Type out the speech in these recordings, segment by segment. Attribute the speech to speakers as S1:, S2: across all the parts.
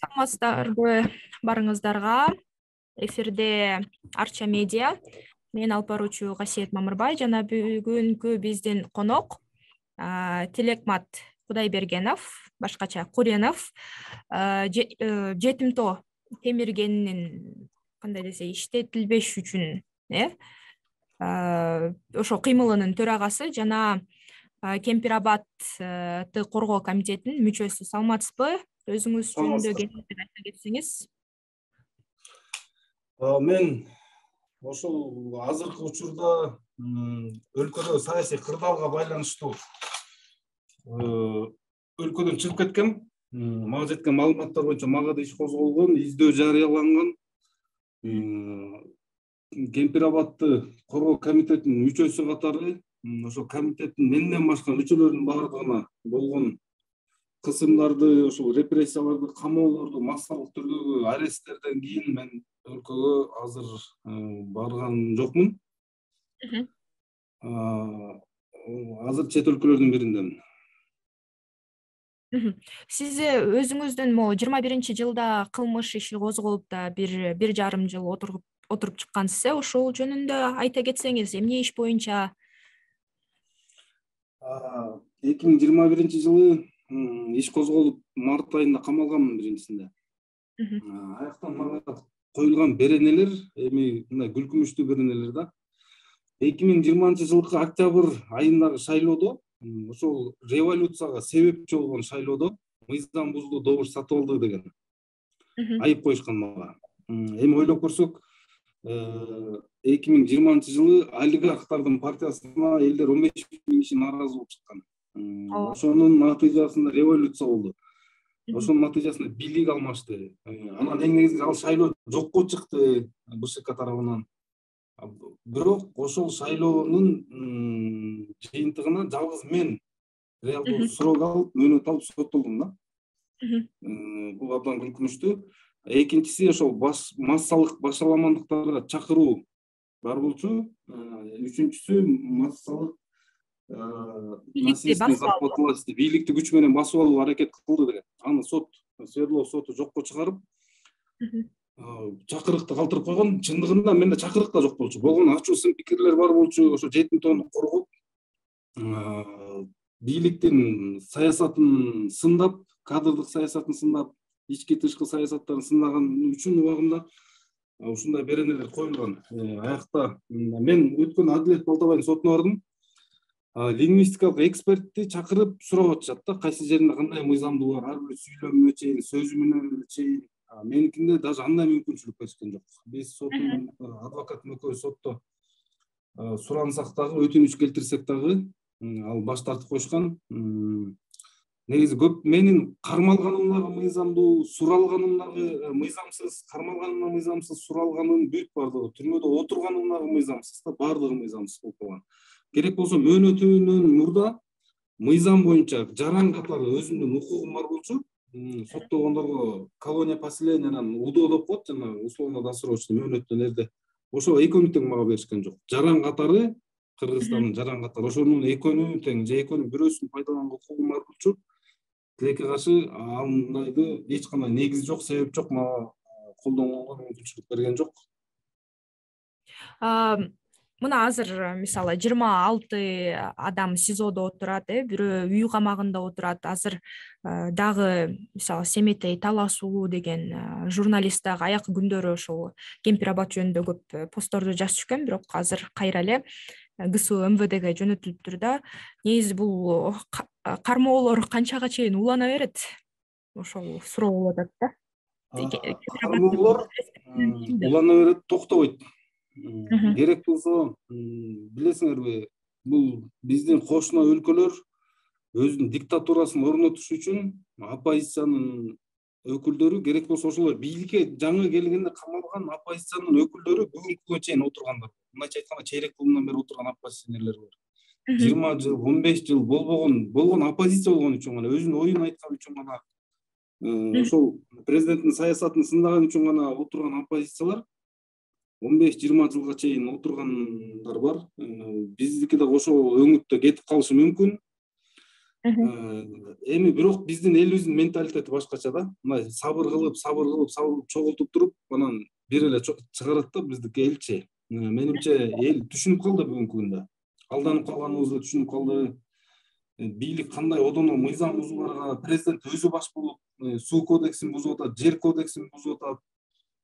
S1: Саламатсыздарбы барыңыздарга. Эфирде Арча медиа. Мен алып баруучу Касиет Мамырбай жана бүгүнкү биздин конок Телекмат Кудайбергенов, башкача Куренов, жетимтоо темиргенинин кандай десе иштетилбеш үчүн ошо кыймылынын төрагасы жана Кемпир-Абадты коргоо комитетинин мүчөсү. Саламатсызбы? Өзүңүз жөнүндө кеңири айта кетсеңиз.
S2: Мен ошол азыркы учурда өлкөдө саясий кырдаалга байланыштуу өлкөдөн чыгып кеткем. Мага жеткен маалыматтар боюнча мага да иш козголгон, издөө жарыяланган. Кемпир-Абадты коргоо комитетинин мүчөсү катары ошол комитеттин менден башка мүчөлөрүнүн баардыгына болгон кысымдарды, ошол репрессияларды, камоолорду, массалык түрдөгү аресттерден кийин мен өлкөгө азыр барган жокмун. Азыр чет өлкөлөрдүн бириндемин.
S1: Сиз өзүңүздүн 21-жылда кылмыш иши козголуп да бир жарым жыл отуруп чыккансыз. Ошол жөнүндө айта кетсеңиз, эмне иш боюнча?
S2: 2021-жылы иш козголуп, март айында камалганмын биринчисинде. Аяктан мага коюлган беренелер эми мындай күлкүмүштүү беренелер да. 2020-жылкы октябрь айындагы шайлоодо, ошол революцияга себепчи болгон шайлоодо мыйзам бузду, добуш сатып алды деген айып коюшкан мага. Эми ойлоп көрсөк, 2020-жылы олигархтардын партиясына элдер 15 000 киши нааразы болуп чыккан. Ошонун натыйжасында революция болду. Ошонун натыйжасында бийлик алмашты. Анан эң негизги ал шайлоо жокко чыкты БШК тарабынан. Бирок ошол шайлоонун жыйынтыгына жалгыз мен реалдуу срок алып, мөөнөт алып соттолдум да. Бул абдан күлкүнүчтүү. Экинчиси ошол массалык башаламандыктарга чакыруу бар болчу. Үчүнчүсү массалык бийликти күч менен басып алуу аракет кылды деген. Аны Свердлов соту жокко чыгарып, чакырыкты калтырып койгон. Чындыгында менде чакырык да жок болчу. Болгон ачуу сын пикирлер бар болчу. Ошо жетимтоону коргоп, бийликтин саясатын сындап, кадрдык саясатын сындап, ички тышкы саясаттарын сындаган үчүн убагында ушундай беренелер коюлган. Аякта мен өткөн Адилет Балтабайдын сотуна бардым. Лингвистикалык экспертти чакырып сурап атышат да, кайсы жеринде кандай мыйзамдуу бар, ар бир сүйлөмүнө чейин, сөзүмүнө чейин. Меникинде даже андай мүмкүнчүлүк беришкен жок. Биз соттун адвокатым экөөбүз сотто сурансак дагы, өтүнүч келтирсек дагы ал баш тартып коюшкан. Негизи көп менин кармалганымдагы мыйзамдуу, суралганым дагы мыйзамсыз, кармалганым мыйзамсыз, суралганым бүт бардыгы, түрмөдө отурганым дагы мыйзамсыз да, бардыгы мыйзамсыз болуп калган. Керек болсо мөөнөтүнөн мурда мыйзам боюнча жаран катары өзүмдүн укугум бар болчу. Соттолгондорго колония поселениянан УДО деп коет, жана условно-досрочный мөөнөттөн эрде. Ошо экөөнү тең мага беришкен жок. Жаран катары, Кыргызстандын жаран катары, ошонун экөөнү тең, же экөөнүн бирөөсүн пайдаланганга укугум бар болчу. Тилекке каршы андайды эч кандай негиз жок, себеп жок, мага колдонгонго мүмкүнчүлүк берген жок.
S1: Мына азыр мисалы 26 адам СИЗОдо отурат, бирөө үй камагында отурат. Азыр дагы мисалы Семетей таласуу деген журналист дагы аякы күндөрү ошол Кемпир-Абад жөнүндө көп постторду жазып жүргөн, бирок азыр кайра эле ГСУ МВДге жөнөтүлүптүр да. Негизи бул кармоолор канчага чейин улана берет? Ошол суроо болуп атат да.
S2: Кармоолор улана берет, токтобойт. Керек болсо, билесиңерби, бул биздин кошуна өлкөлөр өзүнүн диктатурасын орнотуш үчүн оппозициянын өкүлдөрү, керек болсо ошолор бийликке жаңы келгенде камалган оппозициянын өкүлдөрү бүгүнкү күнгө чейин отургандар. Мындайча айтканда чейрек кылымдан бери отурган оппозиционерлер бар. 20 жыл, 15 жыл болгон оппозиция болгон үчүн гана, өзүнүн оюн айткан үчүн гана, ошол президенттин саясатын сындаган үчүн гана отурган оппозициялар 15-20 жылга чейин отургандар бар. Биздики да ошол өңүттө кетип калышы мүмкүн. Эми бирок биздин элибиздин менталитети башкача да. Мындай сабыр кылып чогултуп туруп, анан бир эле чыгарат да биздики элчи. Менимче эл түшүнүп калды бүгүнкү күндө. Алданып калганыбызды түшүнүп калды. Бийлик кандай одоно мыйзам бузууларга, президент өзү баш болуп, суу кодексин бузуп атат, жер кодексин бузуп атат.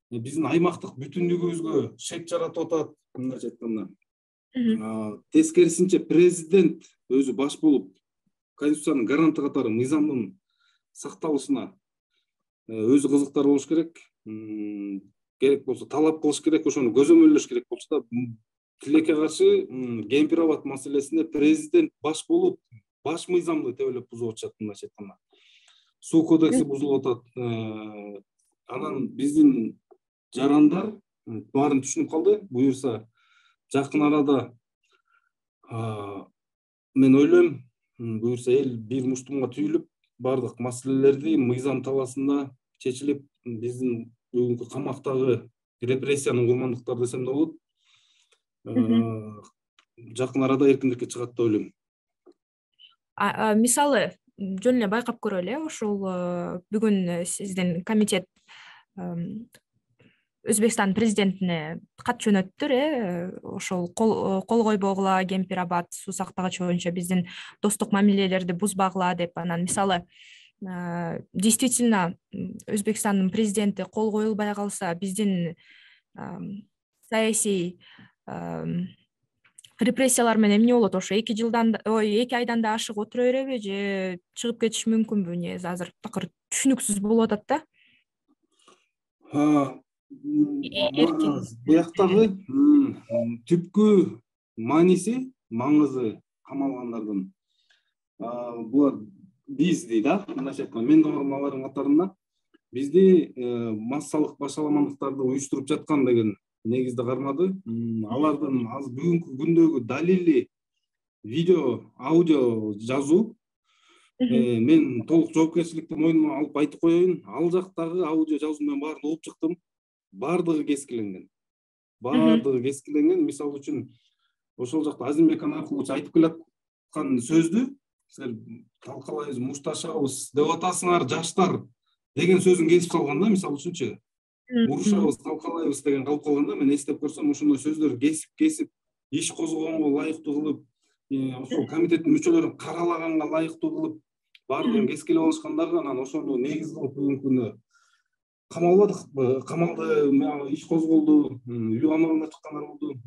S2: Биздин аймактык бүтүндүгүбүзгө шек жаратып атат, мындайча айтканда. Тескерисинче президент өзү баш болуп, Конституциянын гаранты катары мыйзамдын сакталышына өзү кызыктар болуш керек. Керек болсо талап кылыш керек, ошону көзөмөлдөш керек болчу да. Тилекке каршы Кемпир-Абад маселесинде президент баш болуп, баш мыйзамды тебелеп бузуп атышат, мындайча айтканда. Суу кодекси бузулуп атат. Анан биздин жарандар баарын түшүнүп калды. Буюрса жакын арада мен ойлойм, буюрса эл бир муштумга түйүлүп, бардык маселелерди мыйзам талаасында чечилип, биздин бүгүнкү камактагы репрессиянын курмандыктары десем да болот, жакын арада эркиндикке чыгат деп ойлойм.
S1: Мисалы жөн эле байкап көрөлү, ошол бүгүн сиздин комитет Өзбекстан президентине кат жөнөттүр, ошол кол койбогула, Кемпир-Абад суу сактагыч боюнча биздин достук мамилелерди бузбагыла деп. Анан мисалы действительно Өзбекстандын президенти кол коюлбай калса, биздин саясий репрессиялар менен эмне болот? Ошо 2 айдан да ашык отура береби же чыгып кетиш мүмкүнбү? Негизи азыр такыр түшүнүксүз болуп атат да.
S2: Бияктагы түпкү мааниси, маңызы камалгандардын булар биз дейт да, мындайча айтканда, мен алардын катарында бизди массалык башаламандыктарды уюштуруп жаткан деген негизде кармады. Алардын азыр бүгүнкү күндөгү далили видео, аудио жазуу. Мен толук жоопкерчиликти мойнума алып айтып коеюн, ал жактагы аудио жазуунун баарын угуп чыктым. Бардыгы кескиленген. Мисалы үчүн, ошол жакта Азимбек Анаркулович айтып келаткан сөздү силер талкалайбыз, мушташабыз деп атасыңар жаштар деген сөзүн кесип салган да, мисалы үчүнчү. Урушабыз, талкалайбыз деген калып калганда, мен эстеп көрсөм, ошондой сөздөрдү кесип, иш козгогонго ылайыктуу кылып, ошол комитеттин мүчөлөрүн каралаганга ылайыктуу кылып, бардыгын кескилеп алышкан дагы. Анан ошону негиз кылып бүгүнкү күндө камалбадык, камалды, иш козголду, үй камагына чыккандар болду,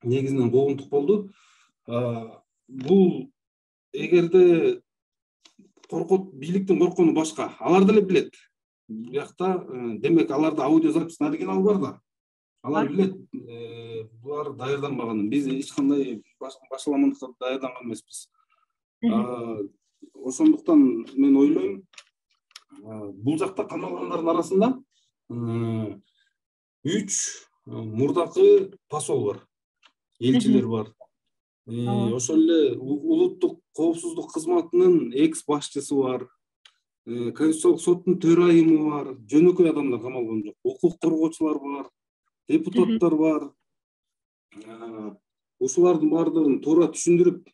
S2: негизинен куугунтук болду. Бул эгерде коркот, бийликтин корккону башка, алар деле билет. Биякта демек аларда аудиозапистин оригиналы бар да. Алар билет, булар даярданбаганын. Биз эч кандай башаламандыкка даярданган эмеспиз. Ошондуктан мен ойлойм, бул жакта камалгандардын арасында 3 мурдакы посол бар, элчилер бар. Ошол эле улуттук коопсуздук кызматынын экс башчысы бар, Конституциялык соттун төрайымы бар, жөнөкөй адамдар камалган жок. Укук коргоочулар бар, депутаттар бар. Ушулардын бардыгын туура түшүндүрүп,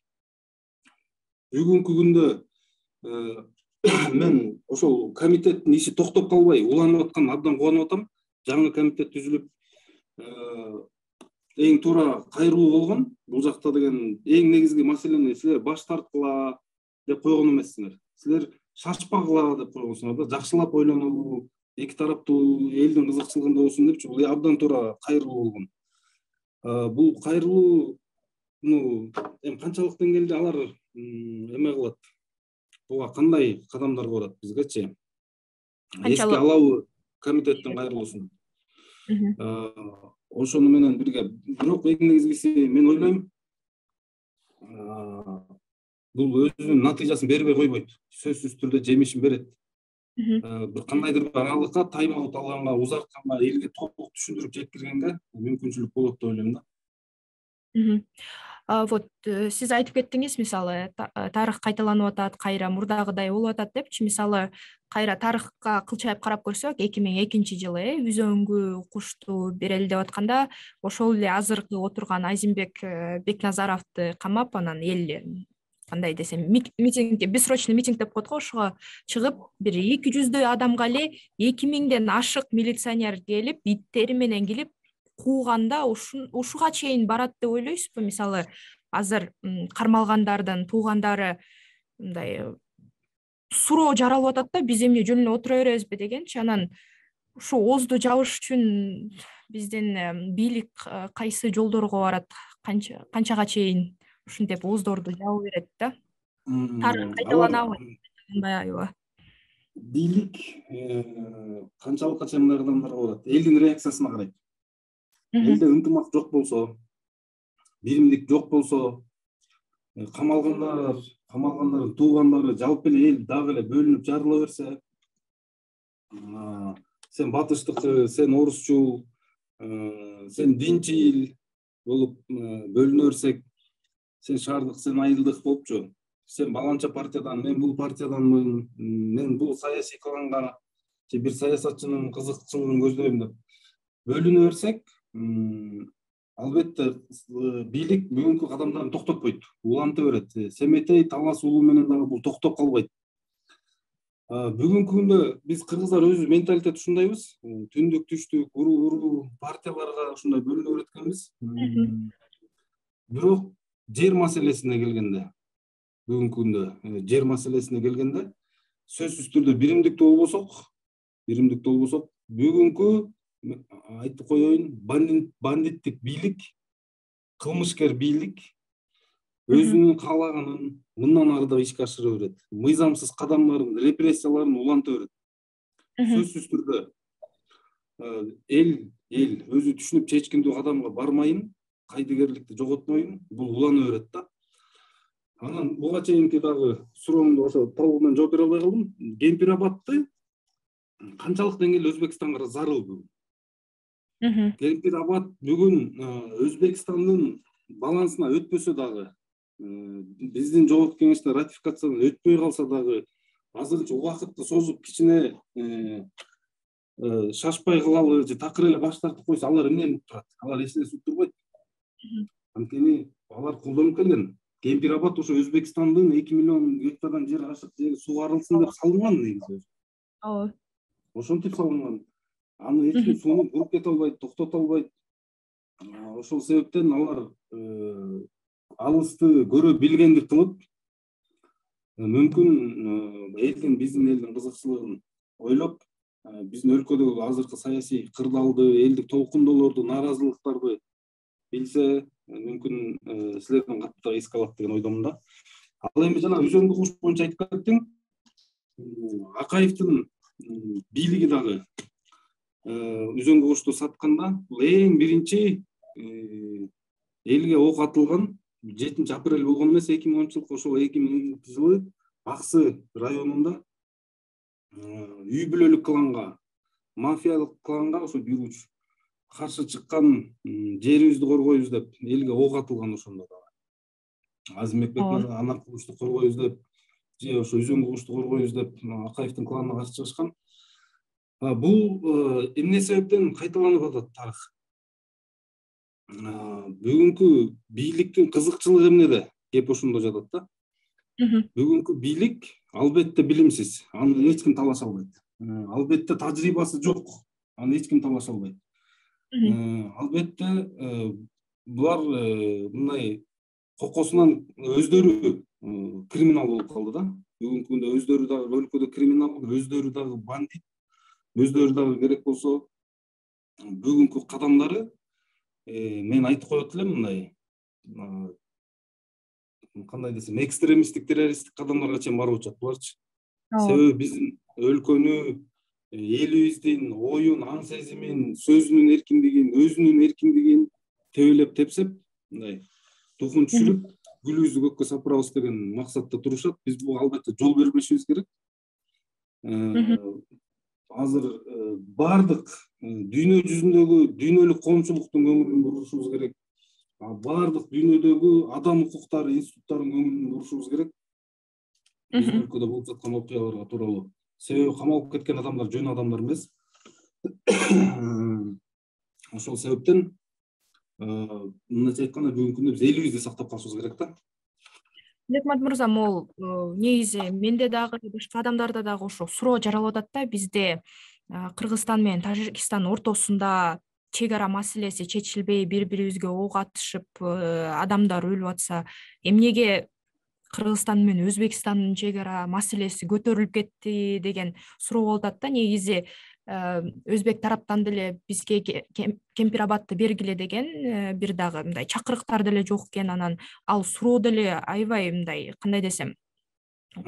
S2: бүгүнкү күндө мен ошол комитеттин иши токтоп калбай уланып аткан абдан кубанып атам. Жаңы комитет түзүлүп, эң туура кайрылуу болгон. Бул жакта деген эң негизги маселени силер баш тарткыла деп койгон эмессиңер. Силер шашпагыла деп койгонсуңар да, жакшылап ойлонолу, эки тараптуу элдин кызыкчылыгында болсун депчи. Бул абдан туура кайрылуу болгон. Бул кайрылууну эми канчалык деңгээлде алар эме кылат? Буга кандай кадамдар көрөт бизгечи? Эске алабы комитеттин кайрылуусун? Ошону менен бирге, бирок эң негизгиси мен ойлойм, бул өзүнүн натыйжасын бербей койбойт. Сөзсүз түрдө жемишин берет. Бир кандайдыр бир аралыкка, тайм-аут алганга, узартканга, элге толук түшүндүрүп жеткиргенге мүмкүнчүлүк болот деп ойлойм да.
S1: Вот сиз айтып кеттиңиз, мисалы тарых кайталанып атат, кайра мурдагыдай болуп атат депчи. Мисалы кайра тарыхка кылчайып карап көрсөк, 2002 жылы үзөңгү кушту берели деп атканда, ошол эле азыркы отурган Азимбек Бекназаровду камап, анан эл кандай десем, митингге, бессрочный митинг деп коет го, ошого чыгып бир 200 адамга эле 2000ден ашык милиционер келип, иттери менен келип кууганда ушуга чейин барат деп ойлойсузбу? Мисалы, азыр кармалгандардын туугандары мындай суроо жаралып атат да, биз эмне жөнүнө отура беребизби дегенчи. Анан ушу оозду жабыш үчүн биздин бийлик кайсы жолдорго барат, канчага чейин ушинтип ооздорду жабы берет да? Тарых кайталанабы, кайталанбайбы?
S2: Бийлик канчалыкка чейин мындай кадамдарга барат? Элдин реакциясына карайт. Элде ынтымак жок болсо, биримдик жок болсо, камалгандардын туугандары, жалпы эле эл дагы эле бөлүнүп жарыла берсе, сен батыштыкы, сен орусчу, сен динчил болуп бөлүнө берсек, сен шаардык, сен айылдык болупчу, сен баланча партиядан, мен бул партияданмын, мен бул саясий кланга же бир саясатчынын кызыкчылыгын көздөйм деп бөлүнө берсек, албетте бийлик бүгүнкү кадамдарын токтотпойт, уланта берет. Семетей талашуу менен дагы бул токтоп калбайт. Бүгүнкү күндө биз кыргыздар өзүбүз менталитет ушундайбыз. Түндүк, түштүк, уруу партияларга ушундай бөлүнө береткенбиз. Бирок жер маселесине келгенде, бүгүнкү күндө жер маселесине келгенде, сөзсүз түрдө биримдиктүү болбосок, бүгүнкү айтып коеюн, бандиттик бийлик, кылмышкер бийлик өзүнүн каалаганын мындан ары да ишке ашыра берет. Мыйзамсыз кадамдарын, репрессияларын уланта берет. Сөзсүз түрдө эл өзү түшүнүп чечкиндүү кадамга бармайын, кайдыгерликти жоготмойм, бул улана берет да. Анан буга чейинки дагы сурооңду ошо толугу менен жооп бере албай калдым. Кемпир-Абадты канчалык деңгээлде Өзбекстанга зарыл бүгүн? Кемпир-Абад бүгүн Өзбекстандын балансына өтпөсө дагы, биздин жогорку кеңештен ратификациядан өтпөй калса дагы, азырынча убакытты созуп кичине шашпай кылалы же такыр эле баш тартып койсо, алар эмнени уктурат? Алар эч нерсе уктурбайт. Анткени алар колдонуп келген. Кемпир-Абад ошо Өзбекстандын 2 миллион гектардан жер ашык жери сугарылсын деп салынган негизи.
S1: Ооба.
S2: Ошентип салынган. Аны эч ким сууну буруп кете албайт, токтото албайт. Ошол себептен алар алысты көрө билгендик кылып, мүмкүн биздин элдин кызыкчылыгын ойлоп, биздин өлкөдөгү азыркы саясий кырдаалды, элдик толкундоолорду, нааразылыктарды билсе, мүмкүн силердин катты эске алат деген ойдомун да. Ал эми жана Үзөңгү куш боюнча айтып кеттиң. Акаевдин бийлиги дагы Үзөңгү кушту сатканда, бул эң биринчи элге ок атылган 7 апрель болгон эмес, 2010-жылкы, ошол 2010-жылы Аксы районунда үй бүлөлүк кланга, мафиялык кланга ошо жүрүүчү каршы чыккан, жерибизди коргойбуз деп элге ок атылган. Ошондо дагы Азимбек Бекмырза анак кушту коргойбуз деп, же ошо Үзөңгү кушту коргойбуз деп Акаевдин кланына каршы чыгышкан. Бул эмне себептен кайталанып атат тарых? Бүгүнкү бийликтин кызыкчылыгы эмнеде? Кеп ошондо жатат да. Бүгүнкү бийлик албетте билимсиз, аны эч ким талаша албайт. Албетте тажрыйбасы жок, аны эч ким талаша албайт. Албетте булар мындай кокосунан өздөрү криминал болуп калды да. Бүгүнкү күндө өздөрү дагы өлкөдө криминал, өздөрү дагы бандит, өздөрү дагы керек болсо бүгүнкү кадамдары мен айтып коет элем, мындай кандай десем, экстремисттик, террористтик кадамдарга чейин барып атышат буларчы. Себеби биздин өлкөнү, элибиздин оюн, аң сезимин, сөзүнүн эркиндигин, өзүнүн эркиндигин тебелеп тепсеп, мындай тухун түшүрүп, гүлүбүздү көккө сапырабыз деген максатта турушат. Биз буга албетте жол бербешибиз керек. Азыр бардык дүйнө жүзүндөгү дүйнөлүк коомчулуктун көңүлүн бурушубуз керек. Бардык дүйнөдөгү адам укуктары институттарынын көңүлүн бурушубуз керек. Биздин өлкөдө болуп жаткан окуяларга тууралуу. Себеби камалып кеткен адамдар жөн адамдар эмес. Ошол себептен мындайча айтканда бүгүнкү күндө биз элибизди сактап калышыбыз керек да.
S1: Бекмат мырза, могул негизи менде дагы башка адамдарда дагы ошо суроо жаралып атат да. Бизде Кыргызстан менен Тажикстан ортосунда чек ара маселеси чечилбей, бири бирибизге ок атышып, адамдар өлүп атса, эмнеге Кыргызстан менен Өзбекстандын чек ара маселеси көтөрүлүп кетти деген суроо болуп атат да. Негизи өзбек тараптан деле бизге Кемпир-Абадты бергиле деген бир дагы мындай чакырыктар деле жок экен. Анан ал суроо деле аябай мындай, кандай десем,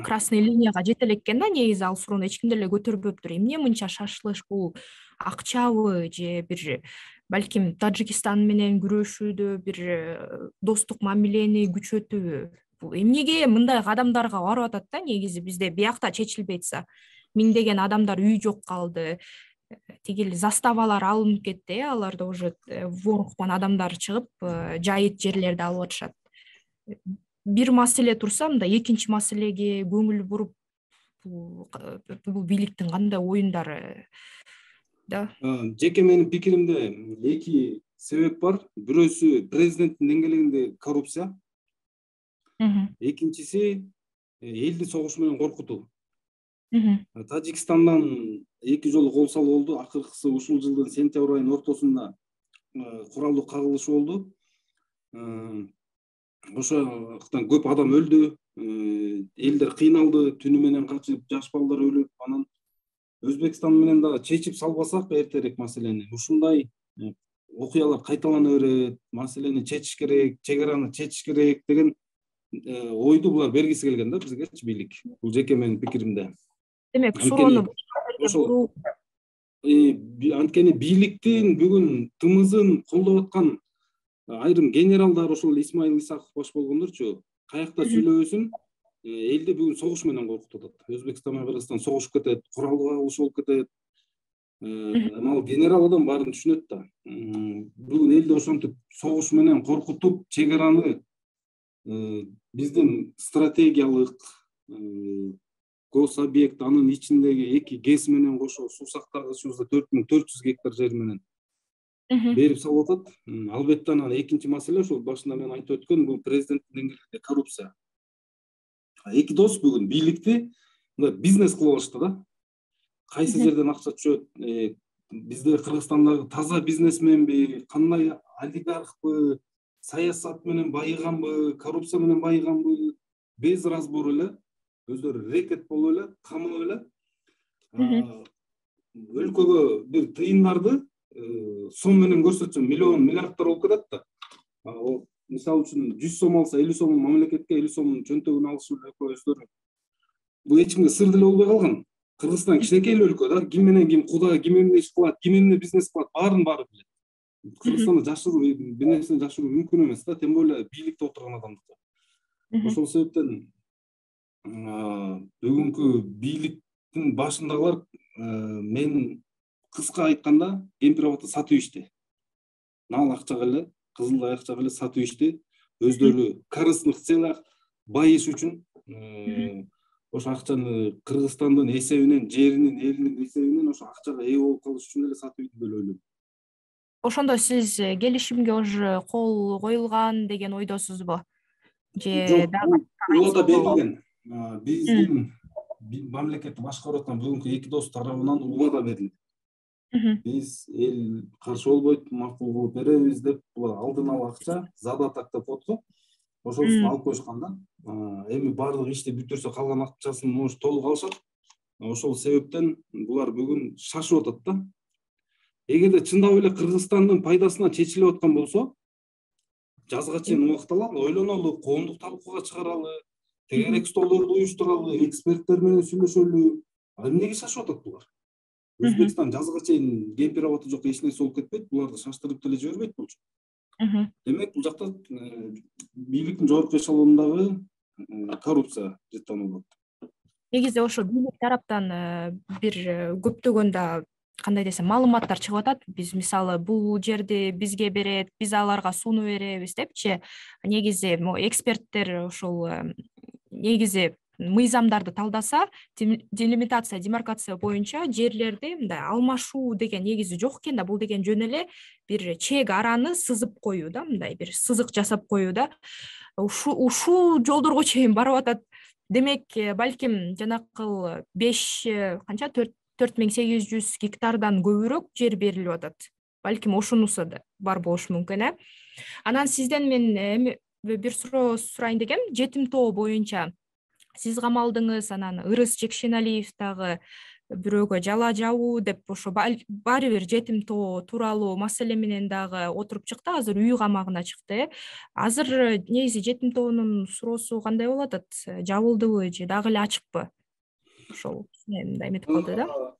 S1: красный линияга жете элек экен да. Негизи ал суроону эч ким деле көтөрбөптүр. Эмне мынча шашылыш? Бул акчабы же бир балким Тажикстан менен күрөшүүдө бир достук мамилени күчөтүүбү? Бул эмнеге мындай кадамдарга барып атат да? Негизи бизде биякта чечилбей атса, миңдеген адамдар үй жок калды, тигил заставалар алынып кетти, аларда уже воруктан адамдар чыгып, жайыт жерлерди алып атышат. Бир маселе турса, мындай экинчи маселеге көңүл буруп, бул бийликтин кандай оюндары да?
S2: Жеке менин пикиримде эки себеп бар. Бирөөсү президенттин деңгээлинде коррупция. Экинчиси элди согуш менен коркутуу. Тажикстандан 2 жолу кол салуу болду. Акыркысы ушул жылдын сентябрь айынын ортосунда куралдуу кагылыш болду. Ошоктон көп адам өлдү, элдер кыйналды, түнү менен качып, жаш балдар өлүп, анан Өзбекстан менен дагы чечип салбасак эртерээк маселени, ушундай окуялар кайталана берет, маселени чечиш керек, чек араны чечиш керек деген ойду булар бергиси келген да бизгечи бийлик. Бул жеке менин пикиримде.
S1: Демек, суроону
S2: ошол анткени бийликтин бүгүн тымызын колдоп аткан айрым генералдар, ошол Исмаил Исаков баш болгондорчу, каякта сүйлөбөсүн, элди бүгүн согуш менен коркутуп атат. Өзбекстан менен Кыргызстан согушуп кетет, куралдуу кагылыш болуп кетет. Ал генерал адам баарын түшүнөт да. Бүгүн элди ошентип согуш менен коркутуп, чек араны биздин стратегиялык гособъект, анын ичиндеги 2 ГЭС менен кошо суу сактагычыбызда 4400 гектар жер менен берип салып атат. Албетте анан экинчи маселе ошол башында мен айтып өткөн, бул президенттин деңгээлинде коррупция. Эки дос бүгүн бийликти бизнес кылып алышты да. Кайсы жерден акча түшөт? Бизде Кыргызстандагы таза бизнесменби, кандай олигархпы, саясат менен байыганбы, коррупция менен байыганбы, без разбор эле өздөрү рекет болуп эле, камап эле өлкөгө бир тыйындарды сом менен көрсөтсө миллион, миллиарддар болуп кетет да. Мисалы үчүн 100 сом алса, 50 сом мамлекетке, 50 сом чөнтөгүн алышып өздөрү. Бул эч кимге сыр деле болбой калган. Кыргызстан кичинекей өлкө да, ким менен ким куда, ким эмне иш кылат, ким эмне бизнес кылат, баарын билет. Кыргызстанда жашыруу, бир нерсени жашыруу мүмкүн эмес да, тем более бийликте отурган адамдыкы. Ошол себептен бүгүнкү бийликтин башындагылар, мен кыска айтканда, Кемпир-Абадты сатып ичти. Нал акчага эле, кызыл акчага эле сатып ичти. Өздөрү корыстных целях байыш үчүн ошо акчаны Кыргызстандын эсебинен, жеринин, элинин эсебинен ошо акчага ээ болуп калыш үчүн эле сатып ичти деп ойлойм.
S1: Ошондо сиз келишимге уже кол коюлган деген ойдосузбу? Же
S2: Жок, убада берилген. Биздин мамлекетти башкарып аткан бүгүнкү эки дос тарабынан убада берилди. Биз эл каршы болбойт, макул кылып беребиз деп алдын ала акча задаток деп коет го. Ошону алып коюшкан да. Эми баардык ишти бүтүрсө калган акчасын может толук алышат. Ошол себептен булар бүгүн шашып атат да. Эгерде чындап эле Кыргызстандын пайдасына чечилип аткан болсо, жазга чейин убакталалы, ойлонолу, коомдук талкууга чыгаралы, тегерек столдорду уюштуралы, эксперттер менен сүйлөшөлү. Эмнеге шашып атат булар? Өзбекстан жазга чейин Кемпир-Абадты жок эч нерсе болуп кетпейт, буларды шаштырып деле жибербейт болчу. Демек, бул жакта бийликтин жогорку эшелонундагы коррупция жыттанып атат.
S1: Негизи ошо бийлик тараптан бир көптөгөн да, кандай десем, маалыматтар чыгып атат. Биз мисалы бул жерди бизге берет, биз аларга сууну беребиз депчи. Негизи эксперттер ошол негизи мыйзамдарды талдаса, делимитация, демаркация боюнча жерлерди мындай алмашуу деген негизи жок экен да. Бул деген жөн эле бир чек араны сызып коюу да, мындай бир сызык жасап коюу да. ушул жолдорго чейин барып атат. Демек, балким жанакыл 5 канча 4800 гектардан көбүрөөк жер берилип атат. Балким ошонусу да бар болушу мүмкүн. Анан сизден мен бир суроо сурайын дегем. Жетим тоо боюнча сиз камалдыңыз, анан Ырыс Жекшеналиев дагы бирөөгө жала жабуу деп ошо баары бир жетим тоо тууралуу маселе менен дагы отуруп чыкты. Азыр үй камагына чыкты. Азыр негизи жетим тоонун суроосу кандай болуп атат? Жабылдыбы же дагы эле ачыкпы? Ошол мындай эметип калды да.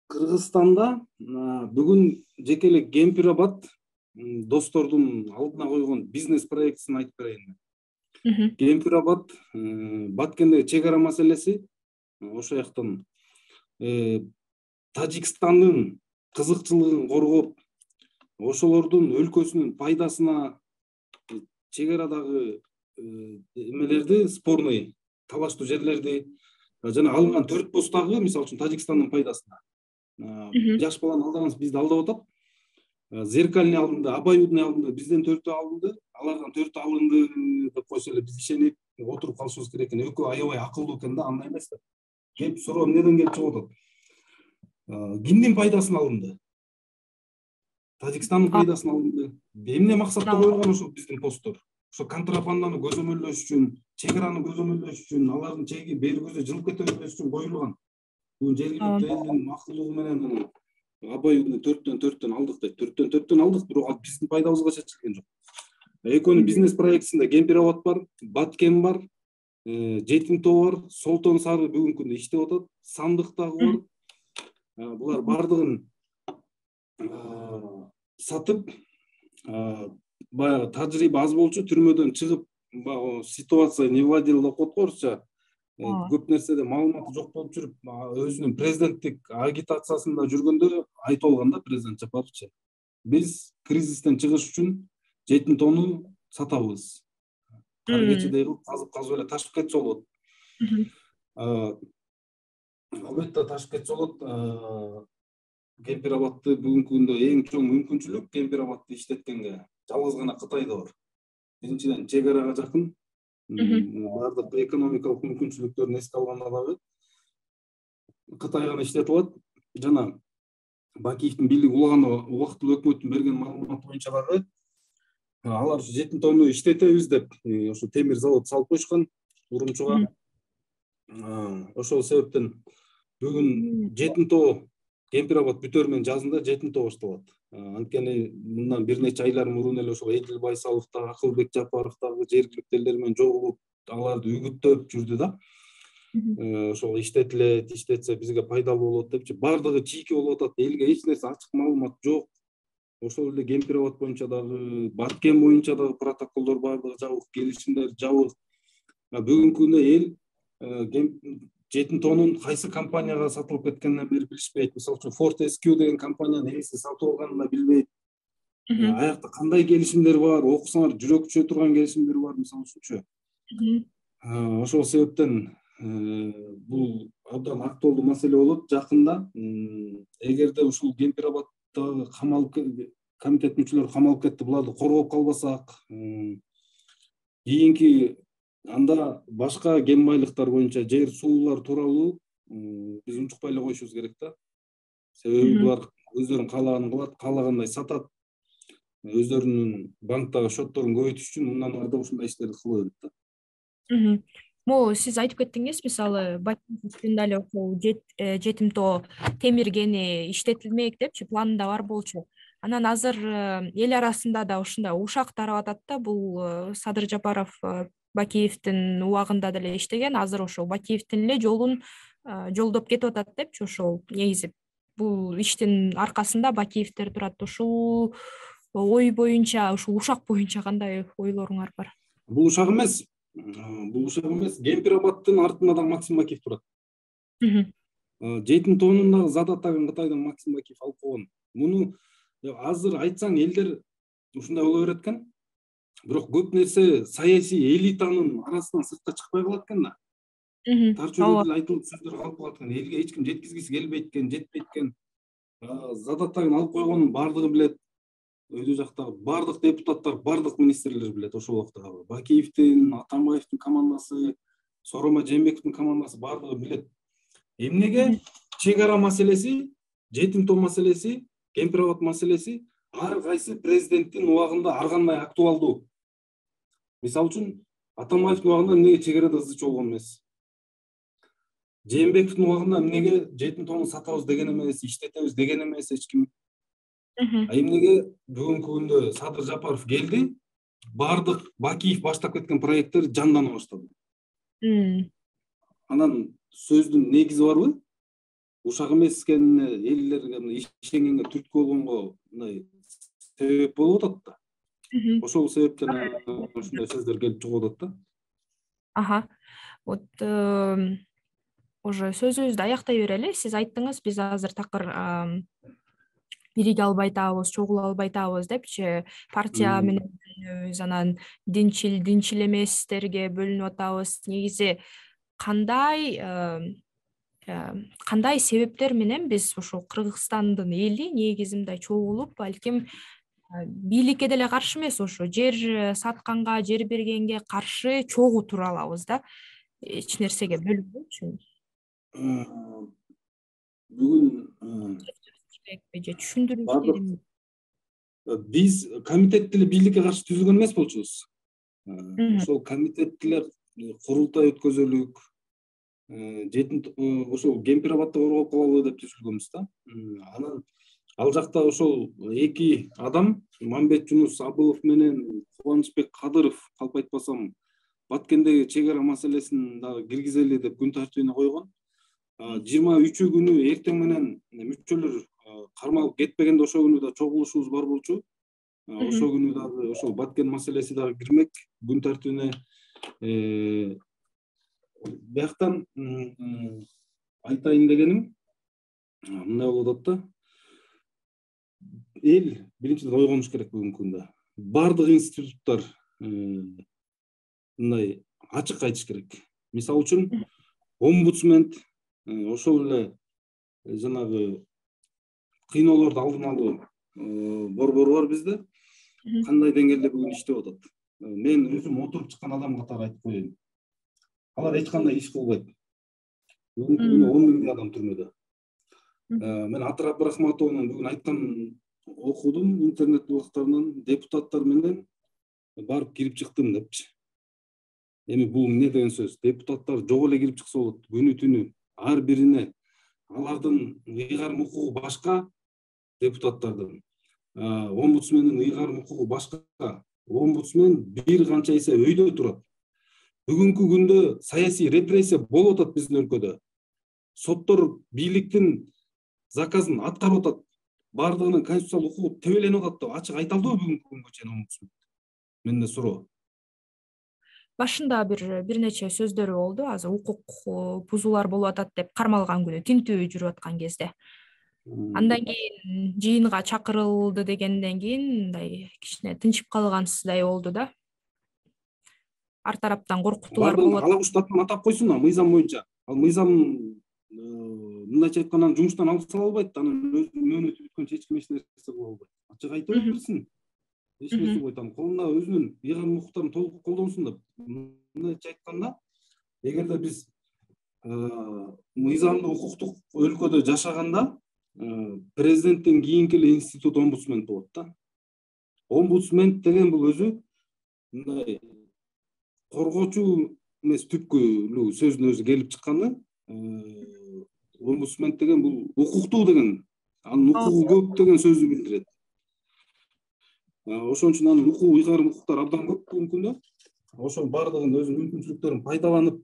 S2: Кыргызстанда бүгүн жеке эле Кемпир-Абад достордун алдына койгон бизнес проектин айтып берейин. Кемпир-Абад Баткендеги чек ара маселеси ошол жактан Тажикстандын кызыкчылыгын коргоп, ошолордун өлкөсүнүн пайдасына чек арадагы эмелерди, спорный талаштуу жерлерди жана алынган 4 постагы, мисалы үчүн Тажикстандын пайдасына. Жаш баланы алдагансыз, бизди алдап атат. Зеркальный алынды, Абайудный алынды, бизден 4 алынды, алардан 4 алынды деп койсо эле биз ишенип отуруп калышыбыз керек экен. Экөө аябай акылдуу экен да, андай эмес да. Кеп суроо эмнеден келип чыгып атат? Кимдин пайдасына алынды? Тажикстандын пайдасына алынды. Эмне максатта коюлган ошол биздин посттор? Ошо контрабанданы көзөмөлдөш үчүн, чек араны көзөмөлдөш үчүн, алардын чеги бери көзө жылып кете бербеш үчүн коюлган. Бул жергиликтүү элдин макулдугу менен Абайудны 4-4 алдык дейт. 4-4 алдык, бирок ал биздин пайдабызга чечилген жок. Экөөнүн бизнес проектисинде Кемпир-Абад бар, Баткен бар, Жетим тоо бар, Солтон Сары бүгүнкү күндө иштеп атат, Сандык дагы бар. Булар бардыгын сатып, баягы тажрыйба аз болчу, түрмөдөн чыгып, ситуация не владел деп коет го орусча. Көп нерседе маалыматы жок болуп жүрүп, өзүнүн президенттик агитациясында жүргөндө айтып алган да президент Жапаровчу. Биз кризистен чыгыш үчүн жетим тоону сатабыз. Кар кечидей кылып казып эле ташып кетсе болот. Албетте ташып кетсе болот. Кемпир-Абадты бүгүнкү күндө эң чоң мүмкүнчүлүк Кемпир-Абадты иштеткенге жалгыз гана Кытайда бар. Биринчиден чек арага жакын, бардык экономикалык мүмкүнчүлүктөрүн эске алганда дагы Кытай гана иштетип алат. Жана Бакиевдин бийлиги улаганда убактылуу өкмөттүн берген маалыматы боюнча дагы алар жетим тоону иштетебиз деп ошо темир завод салып коюшкан Урумчуга. Ошол себептен бүгүн жетим тоо Кемпир-Абад бүтөр менен жазында жетим тоо башталат. Анткени мындан бир нече айлар мурун эле ошол Эдил Байсалов дагы, Акылбек Жапаров дагы жергиликтүү элдер менен жолугуп, аларды үгүттөп жүрдү да. Ошол иштетилет, иштетсе бизге пайдалуу болот депчи, бардыгы чийки болуп атат. Элге эч нерсе ачык маалымат жок. Ошол эле Кемпир-Абад боюнча дагы, Баткен боюнча дагы протоколдор бардыгы жабык, келишимдер жабык. Бүгүнкү күндө эл жетим тоонун кайсы компанияга сатылып кеткенин бери билишпейт. Мисалы үчүн Ford SQ деген компаниянын ээси сатып алганын да билбейт. Аякта кандай келишимдер бар, окусаңар жүрөк түшө турган келишимдер бар, мисалы үчүнчү. Ошол себептен бул абдан актуалдуу маселе болот жакында. Эгерде ушул Кемпир-Абаддагы камалып комитет мүчөлөрү камалып кетти, буларды коргоп калбасак, кийинки анда башка кен байлыктар боюнча жер суулар тууралуу биз унчукпай эле коюшубуз керек да. Себеби булар өздөрүнүн каалаганын кылат, каалагандай сатат. Өздөрүнүн банктагы счетторун көбөйтүш үчүн мындан ары да ушундай иштерди кыла берет да.
S1: Могу сиз айтып кеттиңиз, мисалы Бакиевдин эле ошол жетим тоо темир кени иштетилмек депчи планында бар болчу. Анан азыр эл арасында да ушундай ушак тарап атат да, бул Садыр Жапаров Бакиевдин убагында деле иштеген, азыр ошол Бакиевдин эле жолун жолдоп кетип атат депчи. Ошол негизи бул иштин аркасында Бакиевдер турат. Ушул ой боюнча, ушул ушак боюнча кандай ойлоруңар бар?
S2: Бул ушак эмес. Кемпир-Абадтын артында да Максим Бакиев турат. Жетим тоонун дагы задаттагын Кытайдан Максим Бакиев алып койгон. Муну азыр айтсаң элдер ушундай боло берет экен. Бирок көп нерсе саясий элитанын арасынан сыртка чыкпай калат экен да. Тар чөйрөдө айтылып сөздөр калып калат экен. Элге эч ким жеткизгиси келбейт экен, жетпейт экен. Задаттагын алып койгонун бардыгы билет. өйдө жактагы бардык депутаттар, бардык министрлер билет ошол убактагы. Бакиевдин, Атамбаевдин командасы, Сооронбай Жээнбековдун командасы бардыгы билет. Эмнеге чек ара маселеси, жетим том маселеси, кемпир абад маселеси ар кайсы президенттин убагында ар кандай актуалдуу. Мисалы үчүн Атамбаевдин убагында эмнеге чек арада ызы чуу болгон эмес? Жээнбековдун убагында эмнеге жетим томду сатабыз деген эмес, иштетебиз деген эмес эч ким. Эмнеге бүгүнкү күндө Садыр Жапаров келди, бардык Бакиев баштап кеткен проекттер жандана баштады. Анан сөздүн негизи барбы? Ушак эмес экенине, элдерге иштенгенге түрткү болгонго мындай себеп болуп атат да. Ошол себептен ушундай сөздөр келип чыгып атат
S1: да. Вот уже сөзүбүздү аяктай берели. Сиз айттыңыз, биз азыр такыр бириге албай атабыз, чогула албай атабыз депчи, партия менен бөлүнөбүз, анан динчил эместерге бөлүнүп атабыз. Негизи кандай себептер менен биз ушул Кыргызстандын эли негизи мындай чогулуп, балким бийликке деле каршы эмес, ошо жер сатканга, жер бергенге каршы чогуу тура алабыз да. Эч нерсеге бөлүнбөйчү.
S2: Бүгүн
S1: же түшүндүрүш керекпи?
S2: Биз комитет деле бийликке каршы түзүлгөн эмес болчубуз. Ошол комитет деле курултай өткөзөлүк, ошол кемпир абадды коргоп калалы деп түзүлгөнбүз да. Анан ал жакта ошол эки адам, Мамбет Жунус Абылов менен Кубанычбек Кадыров, калп айтпасам, Баткендеги чек ара маселесин дагы киргизели деп күн тартибине койгон. 23 күнү эртең менен мүчөлөр кармалып кетпегенде ошол күнү да чогулушубуз бар болчу. Ошол күнү дагы ошол Баткен маселеси дагы кирмек күн тартибине. Бияктан айтайын дегеним мындай болуп атат да. Эл биринчиден ойгонуш керек бүгүнкү күндө. Бардык институттар мындай ачык айтыш керек. Мисалы үчүн омбудсмен, ошол эле жанагы кыйноолорду алдын алуу борбору бар бизде. Кандай деңгээлде бүгүн иштеп атат? Мен өзүм отуруп чыккан адам катары айтып коеюн. Алар эч кандай иш кылбайт. Бүгүнкү күндө 10 миңдей адам түрмөдө. Мен Атыр Абдрахматовдун бүгүн айткан окудум интернет булактарынан, депутаттар менен барып кирип чыктым депчи. Эми бул эмне деген сөз? Депутаттар жок эле кирип чыкса болот. Күнү түнү ар бирине алардын ыйгарым укугу башка, депутаттардын. Омбудсмендин ыйгарым укугу башка. Омбудсмен бир канча эсе өйдө турат. Бүгүнкү күндө саясий репрессия болуп атат биздин өлкөдө. Соттор бийликтин заказын аткарып атат. Бардыгынын конституциялык укугу тебеленип атат деп ачык айта алдыбы бүгүнкү күнгө чейин омбудсмен? Менде суроо.
S1: Башында бир нече сөздөрү болду. Азыр укук бузуулар болуп атат деп кармалган күнү тинтүү жүрүп аткан кезде. Андан кийин жыйынга чакырылды дегенден кийин мындай кичине тынчып калгансыздай болду да. Ар тараптан коркутуулар болот.
S2: Алагушту атын атап койсун, мыйзам боюнча. Ал мыйзам мындайча айтканда жумуштан алып сала албайт, анын мөөнөтү бүткөнчө эч ким эч нерсе кыла албайт. Ачык айта берсин. Эч нерсе болбойт. Колунда өзүнүн ыйгарым укуктарын толук колдонсун деп. Мындайча айтканда, эгерде биз мыйзамдуу укуктук өлкөдө жашаганда, президенттен кийинки эле институт омбудсмен болот да. Омбудсмен деген бул өзү мындай коргоочу эмес, түпкүлүү сөздүн өзү келип чыкканы. Омбудсмен деген бул укуктуу деген, анын укугу көп деген сөздү билдирет. Ошон үчүн анын укугу, ыйгарым укуктары абдан көп бүгүнкү күндө. Ошол бардыгын өзүнүн мүмкүнчүлүктөрүн пайдаланып,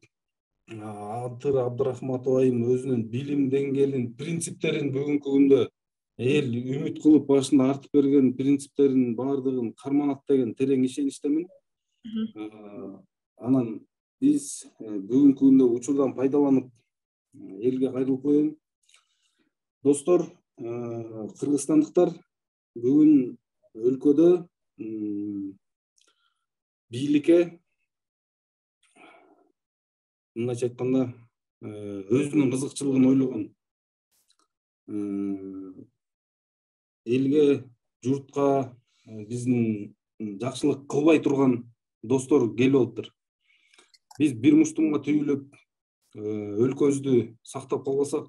S2: Атыр Абдрахматов айым өзүнүн билим деңгээлин, принциптерин бүгүнкү күндө эл үмүт кылып башында артып берген принциптерин бардыгын карманат деген терең ишеничтемин. Анан биз бүгүнкү күндө учурдан пайдаланып элге кайрылып коеюн. Достор, кыргызстандыктар бүгүн өлкөдө бийликке мындайча айтканда өзүнүн кызыкчылыгын ойлогон, элге, журтка биздин жакшылык кылбай турган достор келип алыптыр. Биз бир муштумга түйүлүп өлкөбүздү сактап калбасак,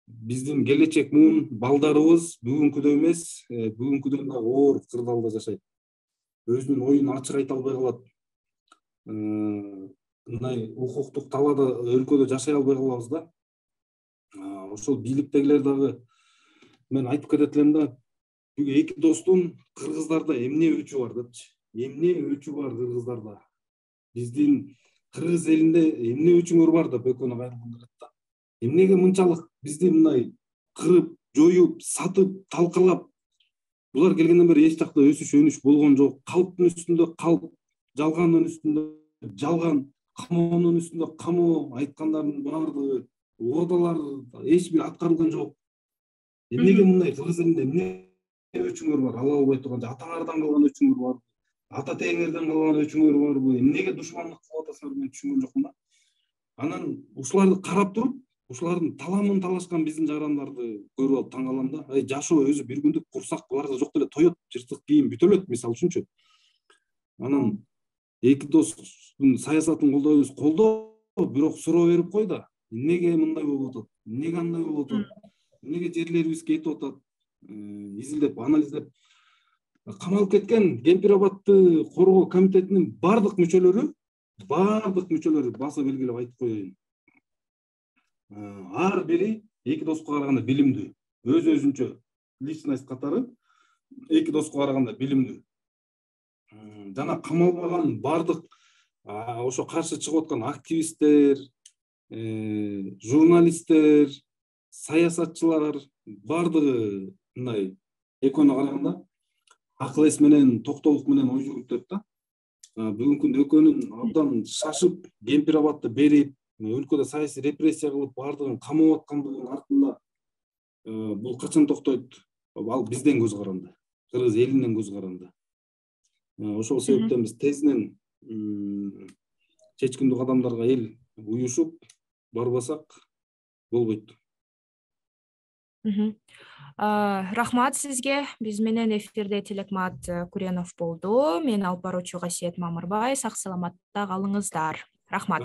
S2: биздин келечек муун балдарыбыз бүгүнкүдөй эмес, бүгүнкүдөн да оор кырдаалда жашайт. Өзүнүн оюн ачык айта албай калат. Мындай укуктук талаада өлкөдө жашай албай калабыз да. Ошол бийликтегилер дагы мен айтып кетет элем да, бүгүн эки достун кыргыздарда эмне өчү бар депчи. Эмне өчү бар кыргыздарда? Биздин кыргыз элинде эмне өчүңөр бар деп экөөнө кайрылгым келет да. Эмнеге мынчалык бизди мындай кырып, жоюп, сатып, талкалап? Булар келгенден бери эч жакта өсүш, өнүш болгон жок. Калптын үстүндө калп, жалгандын үстүндө жалган, камоонун үстүндө камоо, айткандардын баардыгы, угдалар эч бир аткарылган жок. Эмнеге мындай кыргыз элинде эмне өчүңөр бар? Ала албай турган, атаңардан калган өчүңөр бар? Ата теңерден калган өчүңөр барбы? Эмнеге душмандык кылып атасыңар, мен түшүнгөн жокмун да. Анан ушуларды карап туруп, ушулардын таламын талашкан биздин жарандарды көрүп алып таң калам да. Жашоо өзү бир күндүк, курсак буларда жок деле тоет, жыртык кийим бүтө элет, мисалы үчүнчү. Анан эки достун саясатын колдойбуз, колдоо, бирок суроо берип кой да. Эмнеге мындай болуп атат? Эмнеге андай болуп атат? Эмнеге жерлерибиз кетип атат? Изилдеп, анализдеп. Камалып кеткен Кемпир-Абадты коргоо комитетинин баардык мүчөлөрү баса белгилеп айтып коеюн. Ар бири эки доско караганда билимдүү. Өз-өзүнчө личность катары эки доско караганда билимдүү. Жана камалбаган баардык ошо каршы чыгып аткан активисттер, журналисттер, саясатчылар баардыгы мындай экөөнө караганда акыл эс менен, токтолук менен ой жүгүртөт да. Бүгүнкү күндө экөөнүн абдан шашып, Кемпир-Абадты берип, өлкөдө саясий репрессия кылып, баардыгын камап аткандыгынын артында бул качан токтойт? Ал бизден көз каранды, кыргыз элинен көз каранды. Ошол себептен биз тезинен чечкиндүү кадамдарга эл уюшуп барбасак болбойт.
S1: Рахмат сизге. Биз менен эфирде Тилекмат Куренов болду. Мен алып баруучу Касиет Мамырбай. Сак саламатта калыңыздар. Рахмат.